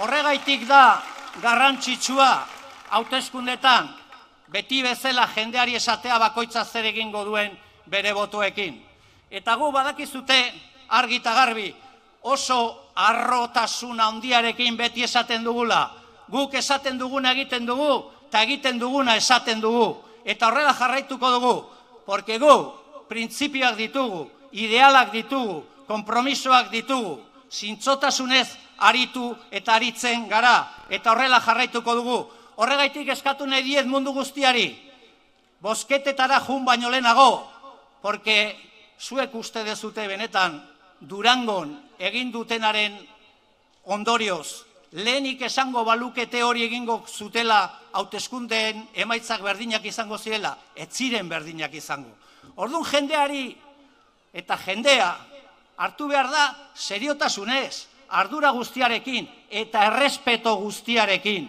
Horregaitik da garrantzitsua hauteskundetan beti bezala jendeari esatea bakoitza zer egingo duen bere botoekin. Eta gu badakizute argi eta garbi oso harrotasun handiarekin beti esaten dugula. Guk esaten duguna egiten dugu eta egiten duguna esaten dugu. Eta horrela jarraituko dugu, porque gu printzipioak ditugu, idealak ditugu, konpromisoak ditugu, zintzotasunez aritu eta aritzen gara, eta horrela jarraituko dugu. Horregaitik eskatu nahi diet mundu guztiari, bozketetara jun baino lehenago, porque zuek uste dezute benetan Durangon egin dutenaren ondorioz, lehenik esango balukete hori egingo zutela hauteskundeen emaitzak berdinak izango zirela, ez ziren berdinak izango. Orduan jendeari eta jendea hartu behar da seriotasunez, ardura guztiarekin eta errespeto guztiarekin.